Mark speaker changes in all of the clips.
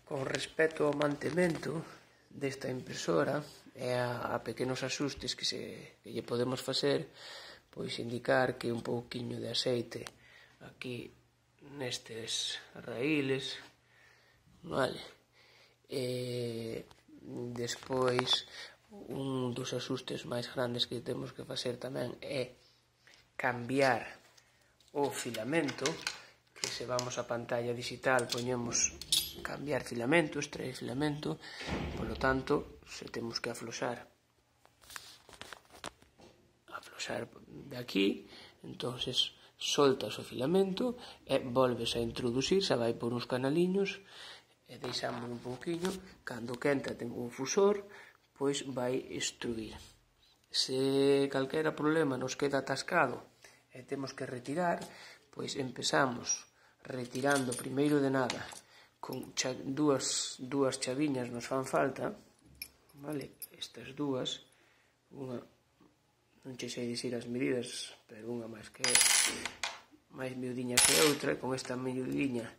Speaker 1: Con respecto ao mantemento desta impresora e a pequenos axustes que lle podemos facer, pois indicar que un pouquiño de aceite aquí nestes raíles, vale? Despois, un dos axustes máis grandes que temos que facer tamén é cambiar o filamento, que se vamos á pantalla digital poñemos cambiar filamento, extraer filamento, polo tanto, se temos que afloxar de aquí, entonces soltas o filamento e volves a introducir, xa vai por uns canaliños e deixamos un pouquiño, cando quenta ten un fusor, pois vai extruir. Se calquera problema nos queda atascado e temos que retirar, pois empezamos retirando primeiro de nada con dúas chaviñas nos fan falta, vale? Estas dúas, unha non che sei dicir as medidas, pero unha máis miudiña que outra, e con esta miudiña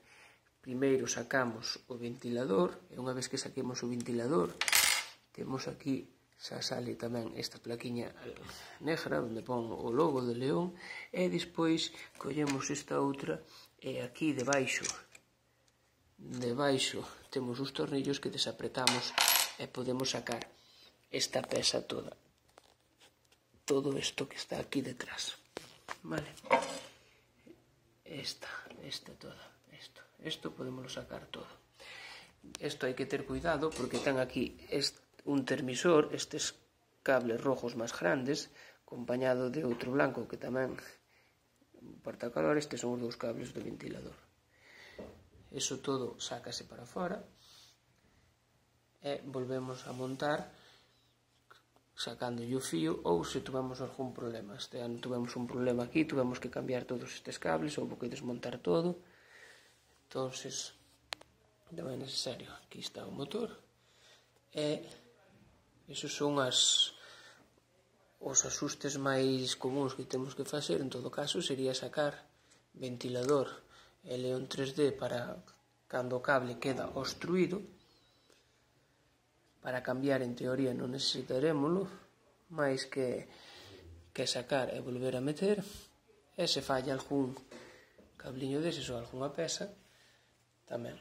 Speaker 1: primeiro sacamos o ventilador, e unha vez que saquemos o ventilador temos aquí, xa sale tamén esta plaquiña negra onde pon o logo de León, e despois collemos esta outra e aquí debaixo temos os tornillos que desapretamos e podemos sacar esta peza toda, todo isto que está aquí detrás, vale? Esta toda, isto podemos sacar todo. Isto hai que ter cuidado porque ten aquí un termisor, estes cables rojos máis grandes, acompañado de outro blanco que tamén porta calor. Estes son os dous cables do ventilador. Iso todo sácase para fora e volvemos a montar sacando o fío, ou se tuvemos algún problema. Este ano tuvemos un problema aquí, tuvemos que cambiar todos estes cables, houve que desmontar todo, entonces non é necesario. Aquí está o motor e esos son os axustes máis comuns que temos que facer. En todo caso sería sacar ventilador e León 3D para cando o cable queda obstruído. Para cambiar, en teoría, non necesitarémoslo, máis que sacar e volver a meter, e se falla algún cabliño deses ou algunha peza, tamén.